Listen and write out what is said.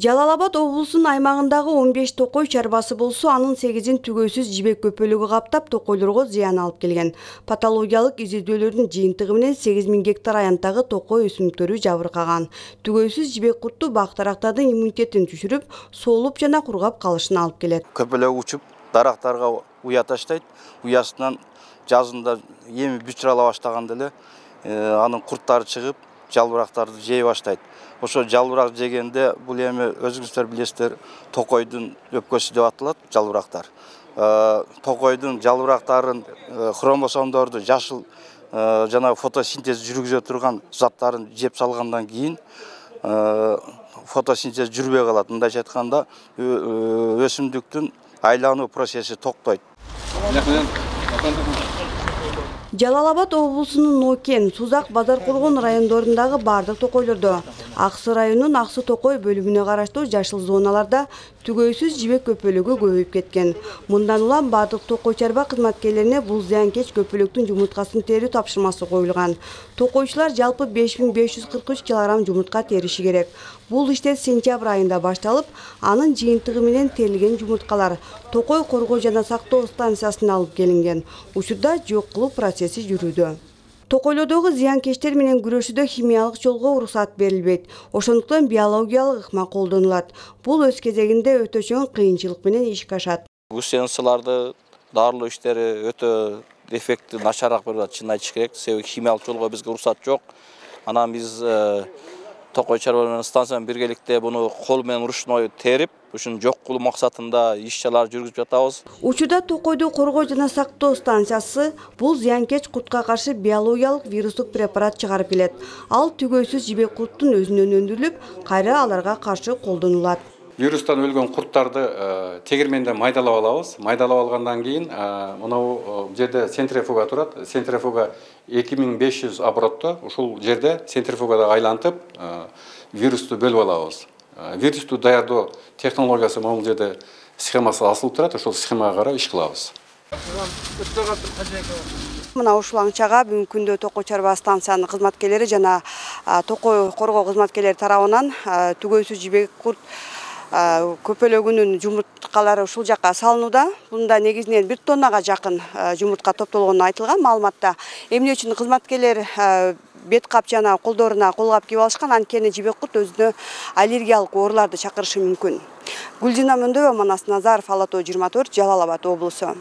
Жалал Абад облусунун аймагындагы 15 токой чарбасы болсо, анын 8-ин түгөйсүз жибек көпөлүгү каптап, токойлорго зыян алып келген. Патологиялык изилдөөлөрдүн жыйынтыгы менен 8000 гектар аянттагы токой өсүмдүктөрү жабыркаган. Түгөйсүз жибек курту бак-дарактардын иммунитетин түшүрүп, соолуп жана кургап калышына алып келет. Көпөлөк учуп, дарактарга уя таштайт. Уясынан жазында эми бүчүрала баштаганда эле анын курттары чыгып, жалбырактарды жей баштайт. Ошо жалбырак жегенде бул эми өзүңүздөр билесиздер, токойдун өпкөсү деп аталат жалбырактар. Токойдун жалбырактарын хромосомдорду жашыл жана фотосинтез жүргүзө турган заттарын жеп салгандан кийин фотосинтез жүрбөй калат. Мындайча айтканда, өсүмдүктүн айлануу процесси токтойт. Жалал Абад облусунун Нокен, Сузак, Базаркулгун райондорундагы бардык токойлордо, Аксы районунун Аксы токой бөлүмүнө караштуу жашыл зоналарда түгөйсүз жибек көпөлүгү көбөйүп кеткен. Мындан улам бардык токой чарба кызматкерлерине бул зыянкеч көпөлүктүн жумурткасын терүү тапшырмасы коюлган. Токойчулар жалпы 5543 килограмм жумуртка териши керек. Бул иштер сентябрь айында башталып, анын жыйынтыгы менен терилген жумурткалар Токой коргоо жана сактоо станциясына алып келинген. Учурда жок кылуу процесси жүрүүдө. Токойлордогу зыянкечтер менен күрөшүүдө химиялык жолго уруксат берилбейт. Ошондуктан биологиялык ыкма колдонулат. Бул өз кезегинде өтө чоң кыйынчылык менен ишке ашат. Усенсыларды дарылоо иштери өтө эффекти начараак берип атат, чынын айтыш керек. Себеби химиялык жолго бизге уруксат жок. Анан биз токой чарба менен станция менен биргеликте буну кол менен ручной терип, ушун жок кылуу максатында иш-чаралар жүргүзүп жатабыз. Учурда Токойду коргоо жана сактоо станциясы бул зыянкеч куртка каршы биологиялык вирустук препарат чыгарып келет. Ал түгөйсүз жибек курттун өзүнөн өндүрүлүп, кайра аларга каршы колдонулат. Вирустан өлгөн курттарды тегирменде майдалап алабыз. Майдалап алгандан кийин мынау жерде центрифуга турат. Центрифуга 2500 оборотто, ушул жерде центрифугада айлантып вирусту бөлүп алабыз. Вирусту даярдоо технологиясы могул жерде схемасы асылып турат. Ошол схемага карап иш кылабыз. Мына ушул аңчага бүгүнкү күндө токой чарба станциянын кызматкерлери жана токой коргоо кызматкерлери тарабынан түгөйсүз жибек курт көпөлөгүнүн жумурткалары ушул жакка салынууда. Бунда негизинен 1 тоннага жакын жумуртка топтолгону айтылган маалыматта. Эмне үчүн кызматкерлер бет кап жана колдоруна колгап кийип алышкан, анткени жибек курт өзүнө аллергиялык ооруларды чакырышы мүмкүн. Гүлжина Мөндөгова, Манас Назаров, Ала Тоо 24, Жалал Абад облусу.